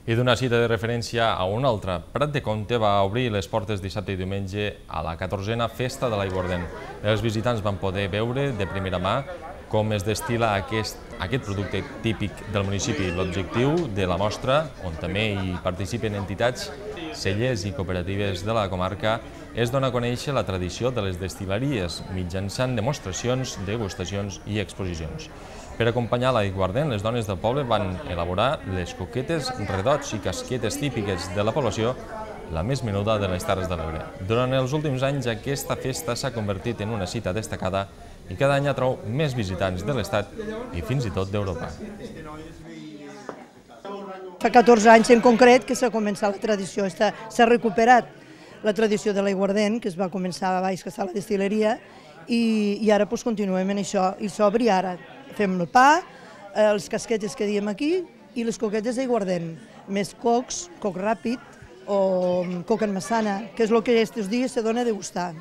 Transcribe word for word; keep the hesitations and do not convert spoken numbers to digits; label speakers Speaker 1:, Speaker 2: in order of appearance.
Speaker 1: I d'una cita de referència a una altra, Prat de Comte va obrir les portes dissabte i diumenge a la catorzena Festa de l'Aiguardent. Els visitants van poder veure de primera mà com es destil·la aquest, aquest producte típic del municipi. L'objectiu de la mostra, on també hi participen entitats, cellers i cooperatives de la comarca, és donar a conèixer la tradició de les destil·leries mitjançant demostracions, degustacions i exposicions. Per acompanyar l'aiguardent, les dones del poble van elaborar les coquetes, redots i casquetes típiques de la població, la més menuda de les Terres de l'Ebre. Durant els últims anys, aquesta festa s'ha convertit en una cita destacada i cada any atrau més visitants de l'Estat i fins i tot d'Europa.
Speaker 2: Fa catorze anys en concret que s'ha començat la tradició, s'ha recuperat la tradició de l'aiguardent, que es va començar a baix, que està a la destil·leria, i, i ara doncs, continuem en això, i s'obri ara. Fem el pa, les casquetes que diem aquí i les coquetes d'aiguardent, més cocs, coc ràpid o coc en massana, que és el que aquests dies se dona a degustar.